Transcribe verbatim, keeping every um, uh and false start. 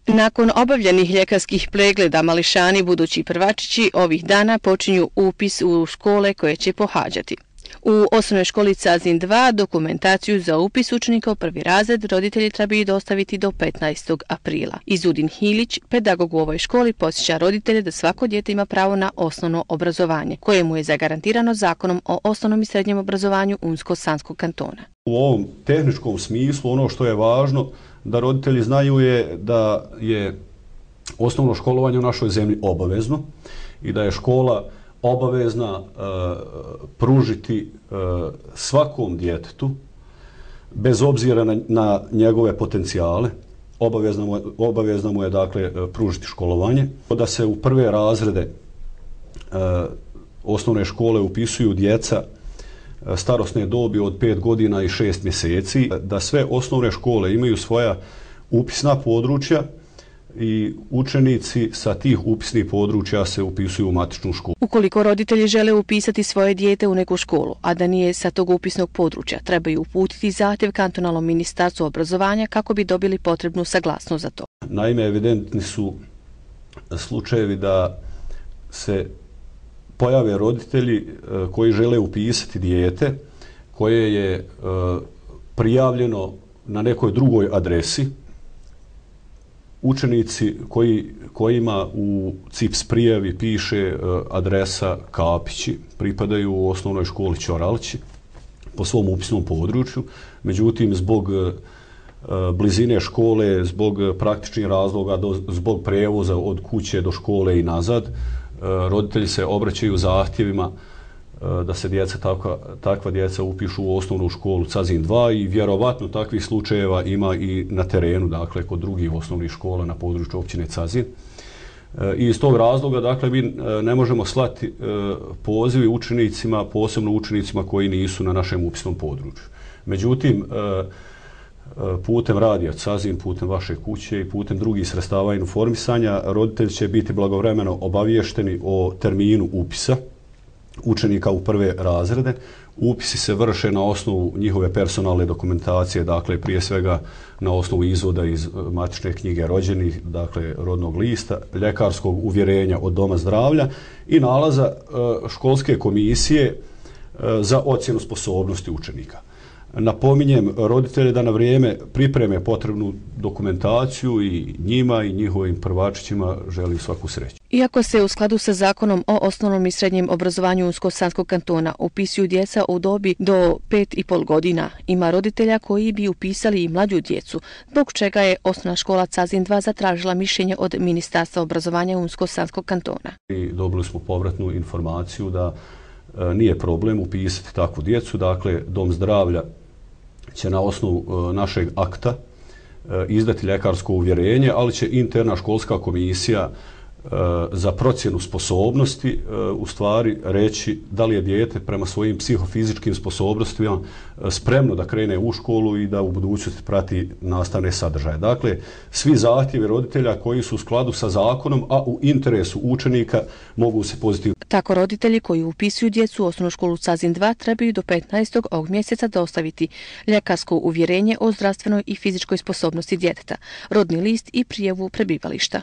Nakon obavljenih ljekarskih pregleda mališani budući prvačići ovih dana počinju upis u škole koje će pohađati. U osnovnoj školi Cazin dva dokumentaciju za upis učenika u prvi razred roditelji trebaju dostaviti do petnaestog aprila. Izudin Hilić, pedagog u ovoj školi, podsjeća roditelje da svako dijete ima pravo na osnovno obrazovanje, koje mu je zagarantirano zakonom o osnovnom i srednjem obrazovanju Unsko-Sanskog kantona. U ovom tehničkom smislu ono što je važno da roditelji znaju je da je osnovno školovanje u našoj zemlji obavezno i da je škola obavezna uh, pružiti uh, svakom djetetu, bez obzira na, na njegove potencijale, obavezna mu, obavezna mu je dakle pružiti školovanje. Da se u prve razrede uh, osnovne škole upisuju djeca starosne dobi od pet godina i šest mjeseci, da sve osnovne škole imaju svoja upisna područja i učenici sa tih upisnih područja se upisuju u matičnu školu. Ukoliko roditelji žele upisati svoje dijete u neku školu, a da nije sa tog upisnog područja, trebaju uputiti zahtjev kantonalnom ministarstvu obrazovanja kako bi dobili potrebnu saglasnost za to. Naime, evidentni su slučajevi da se pojave roditelji koji žele upisati dijete koje je prijavljeno na nekoj drugoj adresi. Učenici koji, kojima u C I P S prijavi piše adresa Kapići pripadaju u osnovnoj školi Ćoralići po svom upisnom području. Međutim, zbog blizine škole, zbog praktičnih razloga, zbog prijevoza od kuće do škole i nazad, roditelji se obraćaju zahtjevima da se djeca, takva, takva djeca upišu u osnovnu školu Cazin dva i vjerovatno takvih slučajeva ima i na terenu, dakle kod drugih osnovnih škola na području općine Cazin. I iz tog razloga, dakle, mi ne možemo slati pozivi učenicima, posebno učenicima koji nisu na našem upisnom području. Međutim, putem radija Cazin, putem vaše kuće i putem drugih sredstava informisanja, roditelji će biti blagovremeno obavješteni o terminu upisa učenika u prve razrede. Upisi se vrše na osnovu njihove personalne dokumentacije, dakle prije svega na osnovu izvoda iz matične knjige rođenih, dakle rodnog lista, ljekarskog uvjerenja od doma zdravlja i nalaza školske komisije za ocjenu sposobnosti učenika. Napominjem roditelje da na vrijeme pripreme potrebnu dokumentaciju i njima i njihovim prvačićima želim svaku sreću. Iako se u skladu sa zakonom o osnovnom i srednjem obrazovanju Unsko-Sanskog kantona upisuju djeca u dobi do pet i pol godina, ima roditelja koji bi upisali i mlađu djecu, zbog čega je osnovna škola Cazin dva zatražila mišljenje od Ministarstva obrazovanja Unsko-Sanskog kantona. I dobili smo povratnu informaciju da e, nije problem upisati takvu djecu, dakle Dom zdravlja će na osnovu e, našeg akta e, izdati ljekarsko uvjerenje, ali će interna školska komisija e, za procjenu sposobnosti e, u stvari reći da li je dijete prema svojim psihofizičkim sposobnostima e, spremno da krene u školu i da u budućnosti prati nastavne sadržaje. Dakle, svi zahtjevi roditelja koji su u skladu sa zakonom, a u interesu učenika mogu se pozitivno. Tako roditelji koji upisuju djecu u osnovnu školu Cazin dva trebaju do petnaestog ovog mjeseca dostaviti ljekarsko uvjerenje o zdravstvenoj i fizičkoj sposobnosti djeteta, rodni list i prijavu prebivališta.